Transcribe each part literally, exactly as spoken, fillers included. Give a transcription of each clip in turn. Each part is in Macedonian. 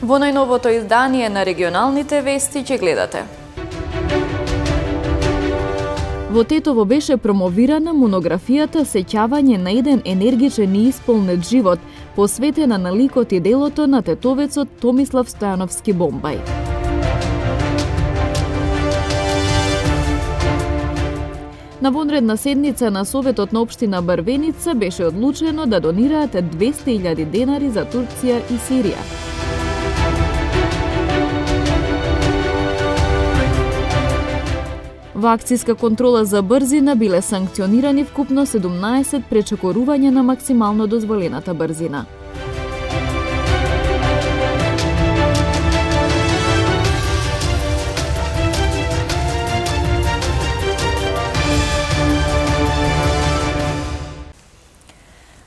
Во најновото издание на регионалните вести ќе гледате. Во Тетово беше промовирана монографијата Сеќавање на еден енергичен и исполнет живот, посветена на ликот и делото на тетовецот Томислав Стојановски Бомбај. На вонредна седница на Советот на општина Брвеница беше одлучено да донираат двесте илјади денари за Турција и Сирија. Во акцијска контрола за брзина биле санкционирани вкупно седумнаесет пречекорувања на максимално дозволената брзина.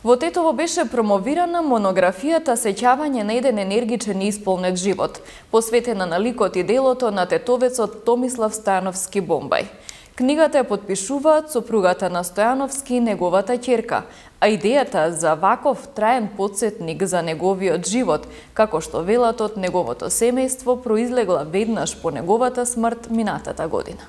Во Тетово беше промовирана монографијата Сеќавање на еден енергичен и исполнет живот, посветена на ликот и делото на тетовецот Томислав Стојановски Бомбај. Книгата ја подпишуваат сопругата на Стојановски и неговата ќерка, а идејата за ваков траен потсетник за неговиот живот, како што велат од неговото семејство, произлегла веднаш по неговата смрт минатата година.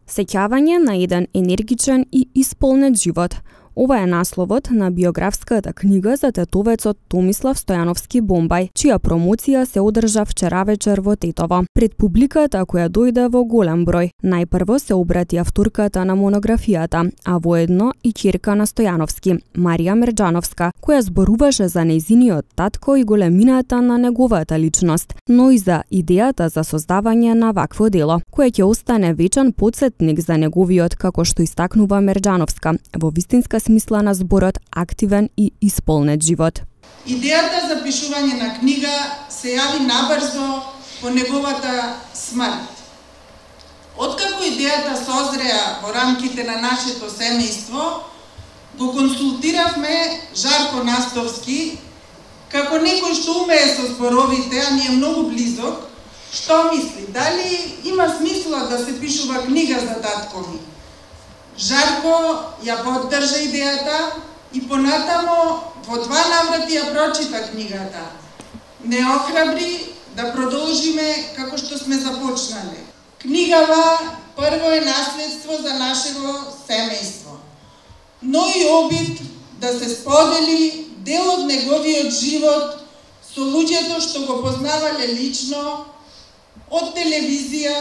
Сеќавање на еден енергичен и исполнет живот. Ова е насловот на биографската книга за тетовецот Томислав Стојановски Бомбај, чија промоција се одржа вчера вечер во Тетово. Пред публиката која дојде во голем број, најпрво се обрати авторката на монографијата, а воедно и ќерка на Стојановски, Марија Мерџановска, која зборуваше за нејзиниот татко и големината на неговата личност, но и за идејата за создавање на вакво дело, кое ќе остане вечен потсетник за неговиот, како што истакнува Мерџановска, во вистинска смисла на зборот активен и исполнет живот. Идејата за пишување на книга се јави набрзо по неговата смрт. Откако идејата созреа во рамките на нашето семејство, го консултиравме Жарко Настовски, како некој што умее со зборовите, а ни е многу близок, што мисли, дали има смисла да се пишува книга за татко ми? Жарко ја поддржа идејата и понатамо во два наврати ја прочита книгата. Не охрабри да продолжиме како што сме започнале. Книгава прво е наследство за нашето семејство, но и обид да се сподели дел од неговиот живот со луѓето што го познавале лично, од телевизија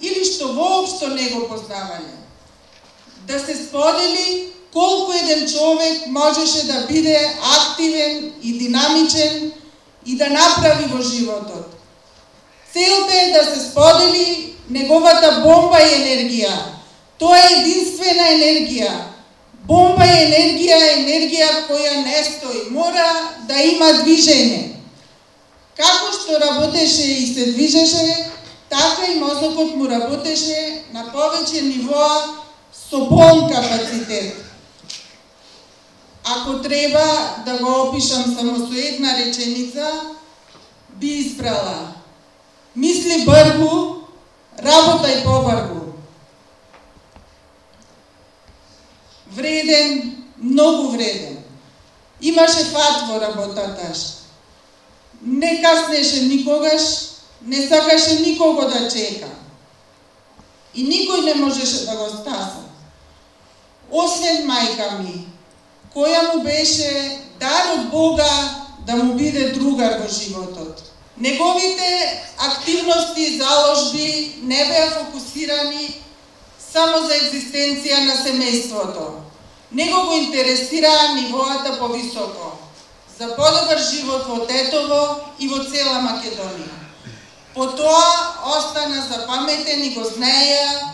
или што воопшто не го познавале. Да се сподели колку еден човек можеше да биде активен и динамичен и да направи во животот. Целта е да се сподели неговата бомба и енергија. Тоа е единствена енергија. Бомба и енергија е енергија која не стои, мора да има движење. Како што работеше и се движеше, така и мозокот му работеше на повеќе нивоа со полн капацитет. Ако треба да го опишам само со една реченица, би избрала: мисли бргу, работај побргу. Вреден, многу вреден. Имаше фат во работата. Не каснеше никогаш, не сакаше никого да чека. И никој не можеше да го стаса. Освен мајка ми, која му беше дар од Бога да му биде другар во животот. Неговите активности и заложби не беа фокусирани само за екзистенција на семејството. Него го интересираа нивоата повисоко, за подобар живот во Тетово и во цела Македонија. По тоа остана запаметен и го знаеа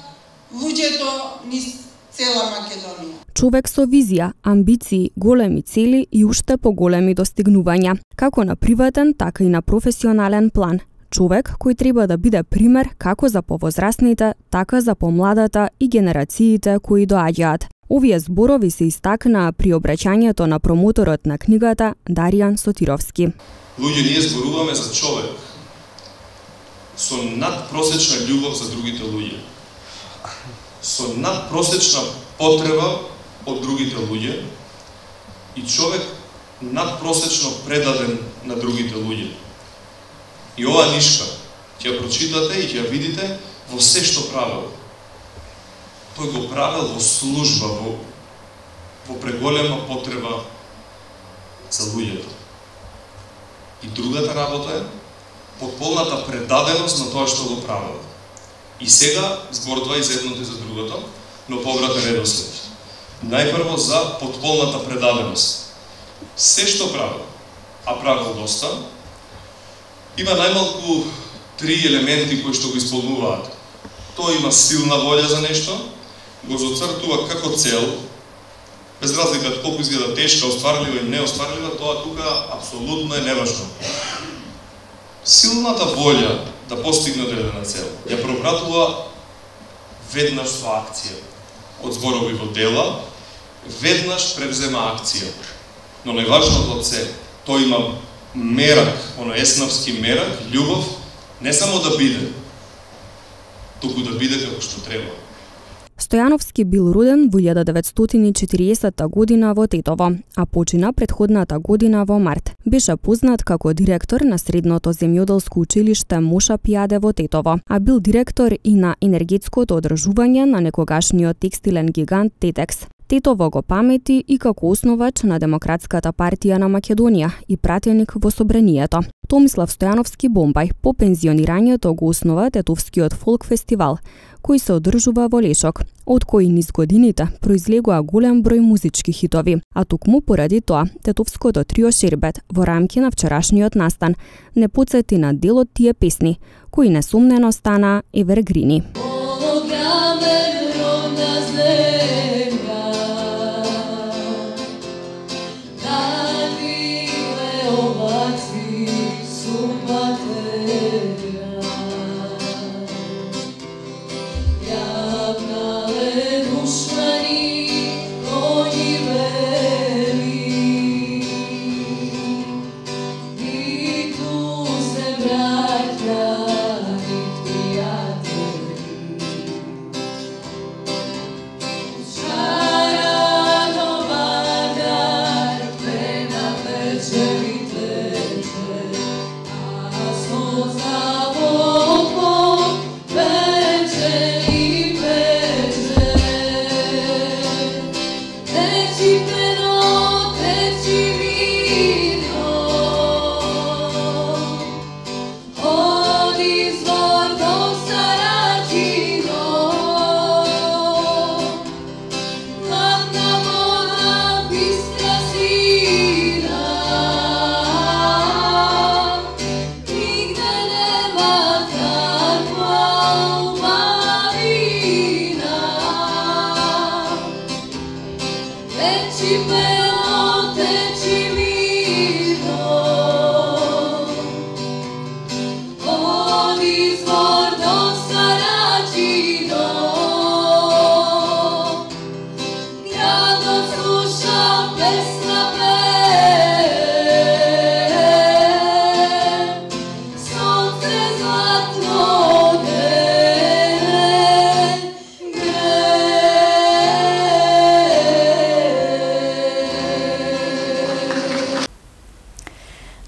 луѓето низ цела Македонија. Човек со визија, амбиции, големи цели и уште поголеми достигнувања, како на приватен, така и на професионален план. Човек кој треба да биде пример како за повозрасните, така за помладата и генерациите кои доаѓаат. Овие зборови се истакнаа при обраќањето на промоторот на книгата Даријан Сотировски. Луѓе, ние зборуваме за човек со надпросечна љубов за другите луѓе, со надпросечна потреба од другите луѓе и човек надпросечно предаден на другите луѓе. И оваа нишка ќе ја прочитате и ќе ја видите во се што правел. Тој го правел во служба, во, во преголема потреба за луѓето. И другата работа е потполната предаденост на тоа што го правел. И сега зборува и за едното и за другото, но повратен редослед. Најпрво за потполната предаденост. Се што правел, а правел доста, има најмалку три елементи кои што го исполнуваат. Тој има силна волја за нешто, го зацртува како цел, без разлика од колку изгледа тешка, остварлива или неостварлива, тоа тука апсолутно е неважно. Силната волја да постигне одредена цел ја пропратува веднаш со акција. Од зборови во дела, веднаш превзема акција. Но најважното од се, тој има мерак, оно еснавски мерак, љубов, не само да биде, туку да биде како што треба. Стојановски бил роден во илјада деветстотини и четириесетта година во Тетово, а почина претходната година во март. Беше познат како директор на средното земјоделско училиште Моша Пијаде во Тетово, а бил директор и на енергетското одржување на некогашниот текстилен гигант Тетекс. Тетово го памети и како основач на Демократската партија на Македонија и пратеник во Собранието. Томислав Стојановски Бомбај по пензионирањето го основа Тетовскиот фолк фестивал, кој се одржува во Лешок, од кој низ годините произлегува голем број музички хитови, а токму поради тоа Тетовското трио Шербет во рамки на вчерашниот настан не потсети на дел од тие песни, кои несумнено стана евергрини.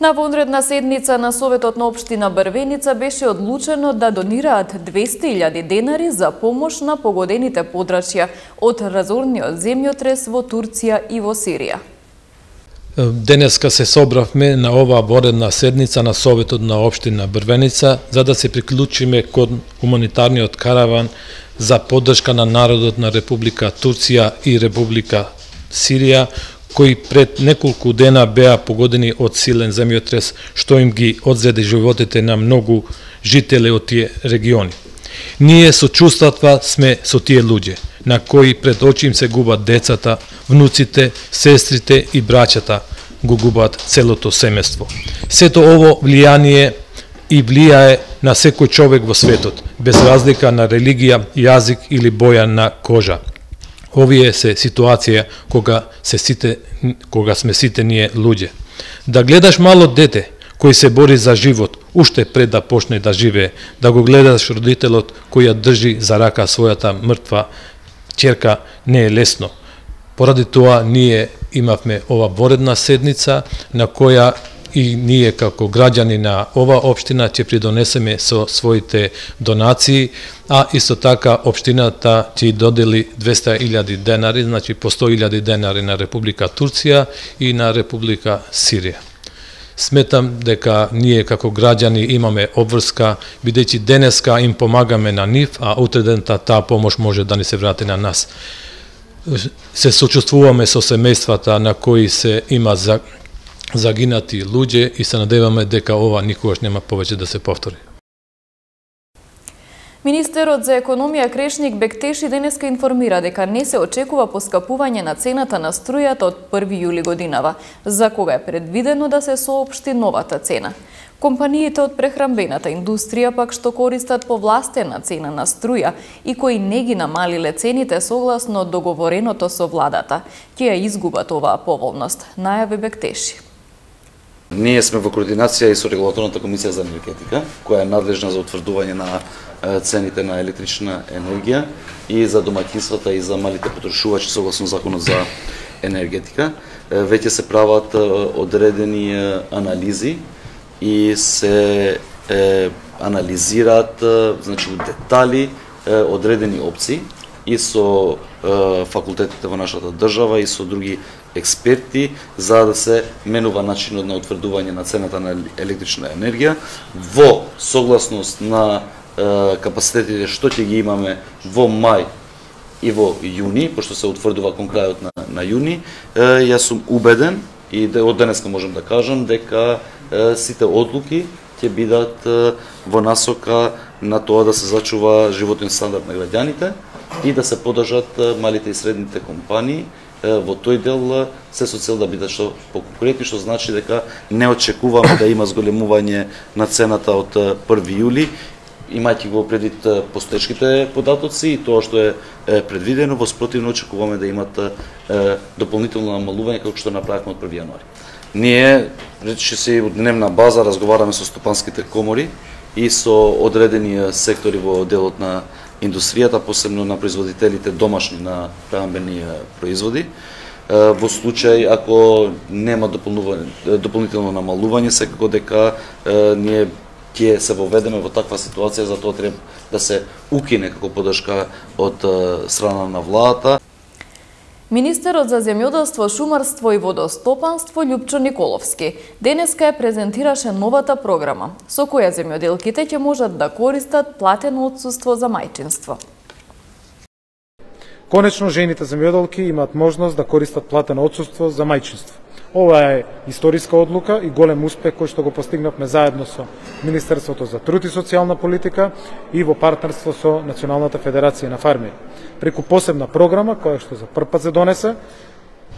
На вонредна седница на Советот на општина Брвеница беше одлучено да донираат двесте илјади денари за помош на погодените подрачја од разорниот земјотрес во Турција и во Сирија. Денеска се собравме на оваа вонредна седница на Советот на општина Брвеница за да се приклучиме кон хуманитарниот караван за поддршка на народот на Република Турција и Република Сирија, кои пред неколку дена беа погодени од силен земјотрес, што им ги одзеде животите на многу жители од тие региони. Ние со чувствата сме со тие луѓе, на кои пред очи им се губат децата, внуците, сестрите и браќата, го губат целото семејство. Сето ово влијание и влијае на секој човек во светот, без разлика на религија, јазик или боја на кожа. Овие се ситуација кога се сите кога сме сите ние луѓе. Да гледаш мало дете кој се бори за живот уште пред да почне да живее, да го гледаш родителот кој ја држи за рака својата мртва ќерка, не е лесно. Поради тоа ние имавме ова вонредна седница на која и ние како граѓани на ова општина ќе придонесеме со своите донации, а исто така општината ќе додели двесте илјади денари, значи по сто илјади денари на Република Турција и на Република Сирија. Сметам дека ние како граѓани имаме обврска, бидејќи денеска им помагаме на нив, а утредента таа помош може да ни се врати на нас. Се сочувствуваме со семејствата на кои се има за загинати луѓе и се надеваме дека ова никогаш нема повеќе да се повтори. Министерот за економија Крешник Бектеши денеска информира дека не се очекува поскапување на цената на струјата од први јули годинава, за кога е предвидено да се соопшти новата цена. Компаниите од прехранбената индустрија пак што користат повластена цена на струја и кои не ги намалиле цените согласно договореното со владата, ќе ја изгубат оваа поволност, најави Бектеши. Ние сме во координација и со Регулаторната комисија за енергетика, која е надлежна за утврдување на цените на електрична енергија и за домаќинствата и за малите потрошувачи согласно законот за енергетика. Веќе се прават одредени анализи и се е, анализираат значи у детали е, одредени опции и со е, факултетите во нашата држава и со други експерти за да се менува начинот на утврдување на цената на електрична енергија во согласност на е, капацитетите што ќе ги имаме во мај и во јуни, пошто се утврдува кон крајот на, на јуни. Е, јас сум убеден и од денеска можам да кажам дека е, сите одлуки ќе бидат е, во насока на тоа да се зачува животен стандард на граѓаните и да се подржат малите и средните компании во тој дел се со цел да бидат што поконкурентни, што значи дека не очекуваме да има зголемување на цената од први јули, имајќи го предвид постоечките податоци и тоа што е предвидено, во спротивно очекуваме да имат дополнително намалување како што направивме од први јануари. Ние, речи се од дневна база, разговараме со стопанските комори и со одредени сектори во делот на индустријата, посебно на производителите домашни на прехранбени производи. Во случај ако нема дополнително намалување, секако дека ние ќе се воведеме во таква ситуација, затоа треба да се укине како поддршка од страна на владата. Министерот за земјоделство, шумарство и водостопанство Љупчо Николовски денеска ја презентираше новата програма со која земјоделките ќе можат да користат платено отсуство за мајчинство. Конечно, жените земјоделки имаат можност да користат платено отсуство за мајчинство. Ова е историска одлука и голем успех кој што го постигнавме заедно со Министерството за труд и социјална политика и во партнерство со Националната федерација на фармери. Преку посебна програма која што за прв пат се донесе,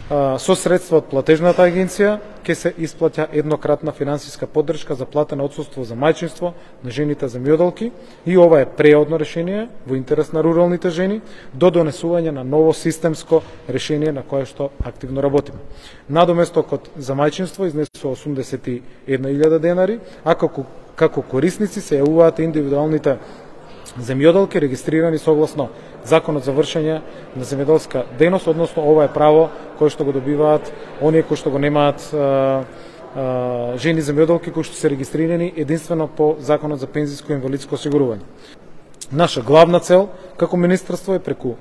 со средства од платежната агенција ќе се исплаќа еднократна финансиска поддршка за платено отсуство за мајчинство на жените земјоделки и ова е преодно решение во интерес на руралните жени до донесување на ново системско решение на кое што активно работиме. Надоместокот за мајчинство изнесува осумдесет и една илјада денари, а како, како корисници се јавуваат индивидуалните земјоделки регистрирани согласно Законот за вршење на земјоделска дејност, односно ова е право кое што го добиваат оние кои што го немаат а, а, жени земјоделки кои што се регистрирани единствено по Законот за пензиско и инвалидско осигурување. Наша главна цел како министерство е преку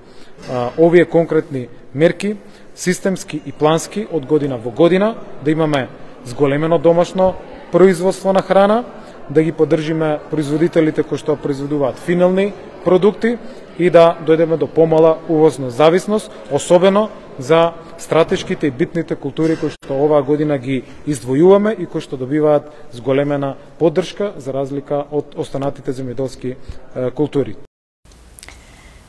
а, овие конкретни мерки, системски и плански од година во година да имаме зголемено домашно производство на храна, да ги поддржиме производителите кои што произведуваат финални продукти и да дојдеме до помала увозна зависност, особено за стратешките и битните култури кои што оваа година ги издвојуваме и кои што добиваат зголемена поддршка за разлика од останатите земјоделски култури.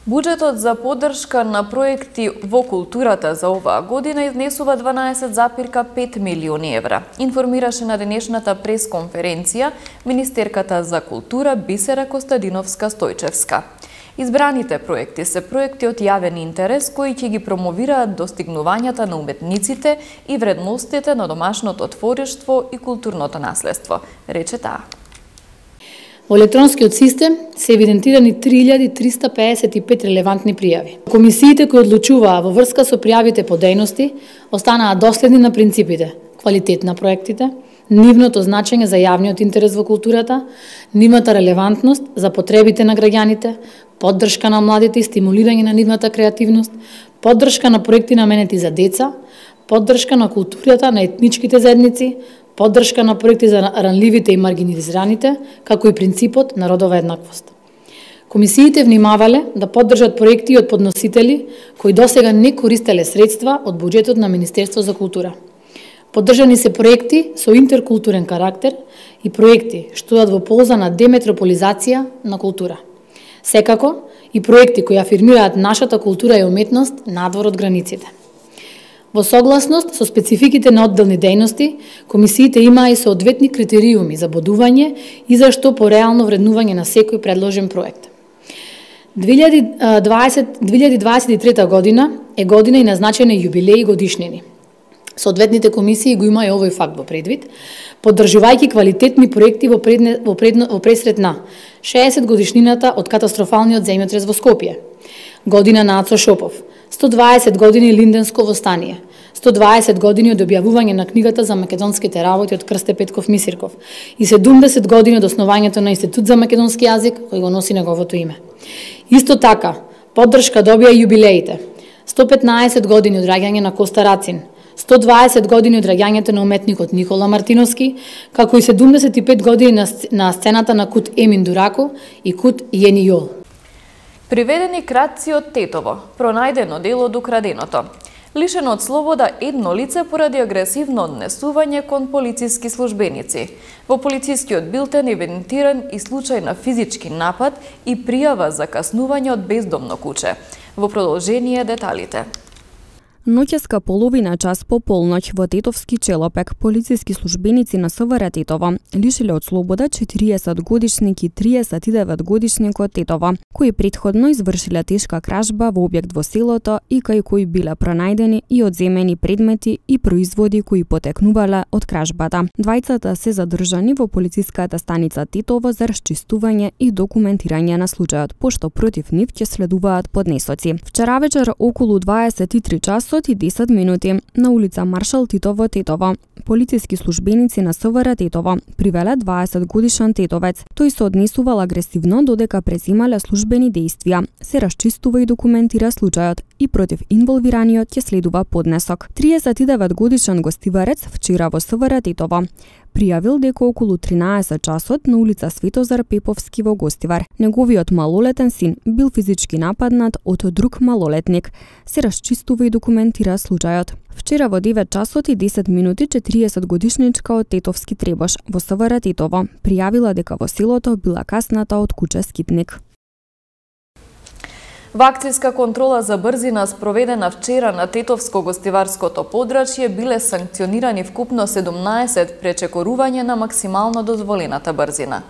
Буџетот за поддршка на проекти во културата за оваа година изнесува дванаесет зарез пет милиони евра. Информираше на денешната пресконференција министерката за култура Бисера Костадиновска-Стојчевска. Избраните проекти се проекти од јавен интерес кои ќе ги промовираат достигнувањата на уметниците и вредностите на домашното творештво и културното наследство, рече таа. Во електронскиот систем се евидентирани три илјади триста пеесет и пет релевантни пријави. Комисиите кои одлучуваа во врска со пријавите по дејности останаа доследни на принципите: квалитет на проектите, нивното значење за јавниот интерес во културата, нивната релевантност за потребите на граѓаните, поддршка на младите и стимулирање на нивната креативност, поддршка на проекти наменети за деца, поддршка на културата на етничките заедници, поддршка на проекти за ранливите и маргинализираните, како и принципот на родова еднаквост. Комисиите внимавале да поддржат проекти од подносители кои досега не користеле средства од буџетот на Министерство за култура. Поддржани се проекти со интеркултурен карактер и проекти што дадат во полза на деметрополизација на култура. Секако и проекти кои афирмираат нашата култура и уметност надвор од границите. Во согласност со спецификите на одделни дејности, комисиите имаа и соодветни критериуми за бодување и за што по реално вреднување на секој предложен проект. две илјади дваесет и трета година е година и назначени јубилеи и годишнини. Соодветните комисии го има и овој факт во предвид, поддржувајќи квалитетни проекти во, предне, во, предно, во пресред на шеесет годишнината од катастрофалниот земјотрес во Скопје, година на Ацо Шопов, сто дваесет години Линденско востание, сто дваесет години од објавување на книгата за македонските работи од Крсте Петков Мисирков и седумдесет години од основањето на Институт за македонски јазик кој го носи неговото име. Исто така, поддршка добија и јубилеите, сто петнаесет години од раѓање на Коста Рацин, сто дваесет години од раѓањето на уметникот Никола Мартиновски, како и седумдесет и пет години на, на сцената на Кут Емин Дурако и Кут Јени Јол. Приведени кратци од Тетово, пронајдено дело од украденото. Лишено од слобода едно лице поради агресивно однесување кон полициски службеници. Во полицискиот билтен евидентиран и случај на физички напад и пријава за каснување од бездомно куче. Во продолжение деталите. Ноќеска половина час по полноќ во Тетовски Челопек полициски службеници на СВР Тетово лишиле од слобода четириесет годишник и триесет и девет годишник од Тетово, кои претходно извршиле тешка кражба во објект во селото и кај кои биле пронајдени и одземени предмети и производи кои потекнувале од кражбата. Двајцата се задржани во полициската станица Тетово за расчистување и документирање на случајот, пошто против нив ќе следуваат поднесоци. Вчера вечер околу дваесет и три часот и десет минути на улица Маршал Тито во Тетово, полициски службеници на СВР Тетово привеле дваесет годишен тетовец. Тој се однесувал агресивно додека преземале службени дејствија. Се расчистува и документира случајот и против инволвираниот ќе следува поднесок. триесет и девет годишен гостиварец вчера во СВР Тетово пријавил дека околу тринаесет часот на улица Светозар Пеповски во Гостивар неговиот малолетен син бил физички нападнат од друг малолетник. Се расчистува и документира случајот. Вчера во девет часот и десет минути четириесет годишничка од Тетовски Требош во СВР Тетово пријавила дека во селото била касната од куче скитник. Во акцијска контрола за брзина спроведена вчера на Тетовско-гостиварското подрачје биле санкционирани вкупно седумнаесет пречекорување на максимално дозволената брзина.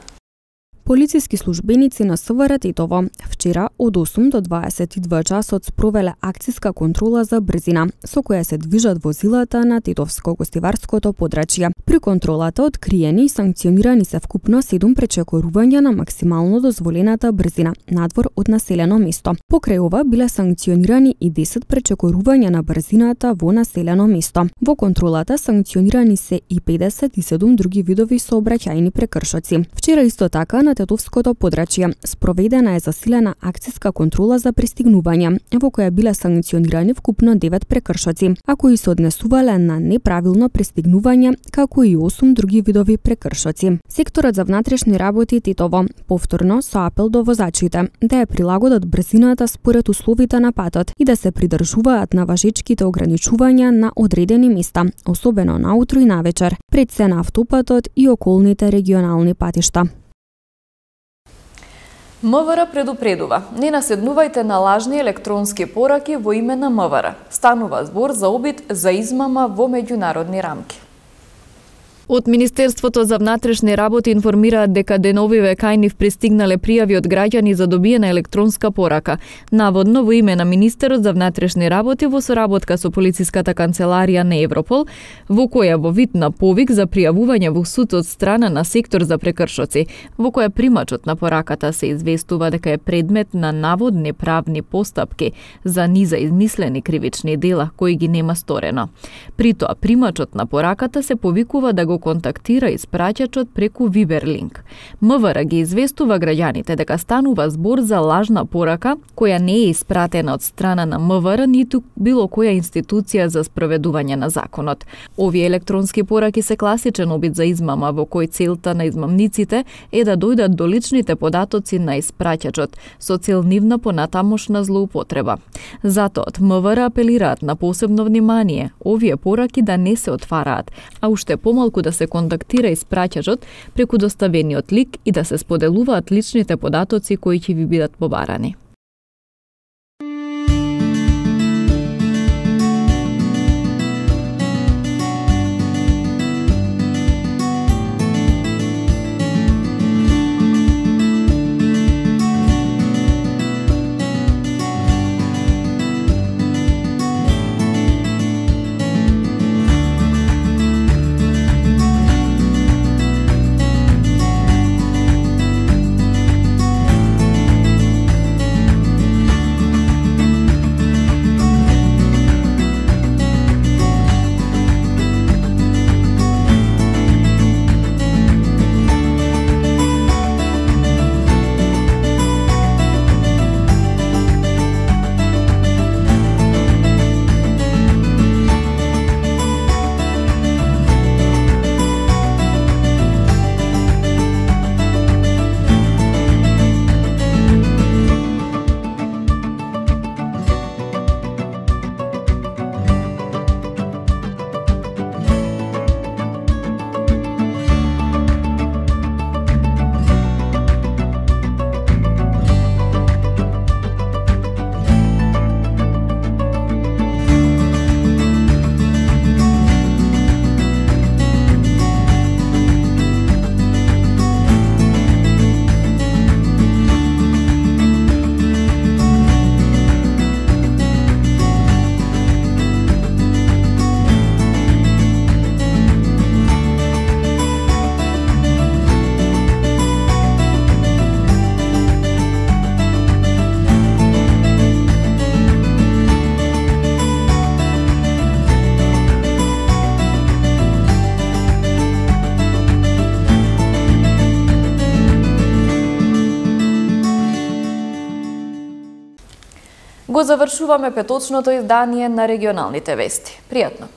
Полициски службеници на СВР Тетово вчера од осум до дваесет и два часот спровеле акцијска контрола за брзина, со која се движат возилата на Тетовско-гостиварското подрачје. При контролата откриени и санкционирани се вкупно седум пречекорувања на максимално дозволената брзина надвор од населено место. Покрај ова биле санкционирани и десет пречекорувања на брзината во населено место. Во контролата санкционирани се и педесет и седум други видови сообраќајни прекршоци. Вчера исто така на Тетовското подрачје спроведена е засилена акцијска контрола за пристигнување, во која биле санкционирани вкупно девет прекршоци, а кои се однесувале на неправилно пристигнување, како и осум други видови прекршоци. Секторот за внатрешни работи Тетово повторно со апел до возачите да ја прилагодат брзината според условите на патот и да се придржуваат на важечките ограничувања на одредени места, особено наутро и навечер, пред се на автопатот и околните регионални патишта. МВР предупредува: не наседнувајте на лажни електронски пораки во име на МВР. Станува збор за обид за измама во меѓународни рамки. Од Министерството за внатрешни работи информираат дека деновиве кај нив пристигнале пријави од граѓани за добиена електронска порака, наводно во име на Министерот за внатрешни работи во соработка со полициската канцеларија на Европол, во која во вид на повик за пријавување во суд од страна на сектор за прекршоци, во која примачот на пораката се известува дека е предмет на наводни правни постапки за низа измислени кривични дела кои ги нема сторено. При тоа примачот на пораката се повикува да го го контактира испраќачот преку Viber линк. МВР ги известува граѓаните дека станува збор за лажна порака која не е испратена од страна на МВР ниту било која институција за спроведување на законот. Овие електронски пораки се класичен обид за измама во кој целта на измамниците е да дојдат до личните податоци на испраќачот со цел нивна понатамошна злоупотреба. Затоа од МВР апелираат на посебно внимание овие пораки да не се отвараат, а уште помалку да се контактира испраќачот преку доставениот лик и да се споделуваат личните податоци кои ќе ви бидат побарани. Го завршуваме петочното издание на регионалните вести. Пријатно!